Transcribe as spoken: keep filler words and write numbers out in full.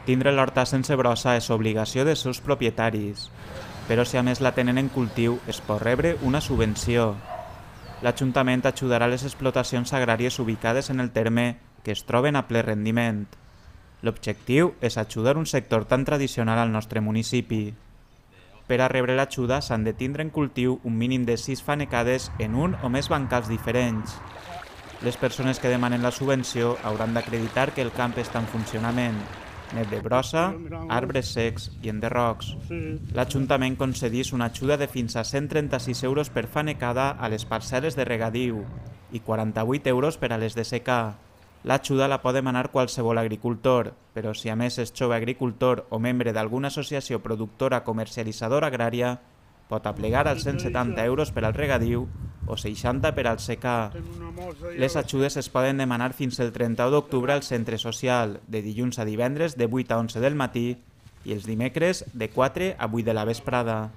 Tindre l'horta sense brossa és obligació dels seus propietaris, però si a més la tenen en cultiu es pot rebre una subvenció. L'Ajuntament ajudarà les explotacions agràries ubicades en el terme que es troben a ple rendiment. L'objectiu és ajudar un sector tan tradicional al nostre municipi. Per a rebre l'ajuda s'han de tindre en cultiu un mínim de sis fanecades en un o més bancals diferents. Les persones que demanen la subvenció hauran d'acreditar que el camp està en funcionament, net de brossa, arbres secs i enderrocs. L'Ajuntament concedís una ajuda de fins a cent trenta-sis euros per fanecada a les parcel·les de regadiu i quaranta-vuit euros per a les de secà. L'ajuda la pot demanar qualsevol agricultor, però si a més és jove agricultor o membre d'alguna associació productora comercialitzadora agrària, pot aplegar els cent setanta euros per al regadiu o seixanta per al secà. Les ajudes es poden demanar fins el trenta-u d'octubre al centre social, de dilluns a divendres de vuit a onze del matí i els dimecres de quatre a vuit de la vesprada.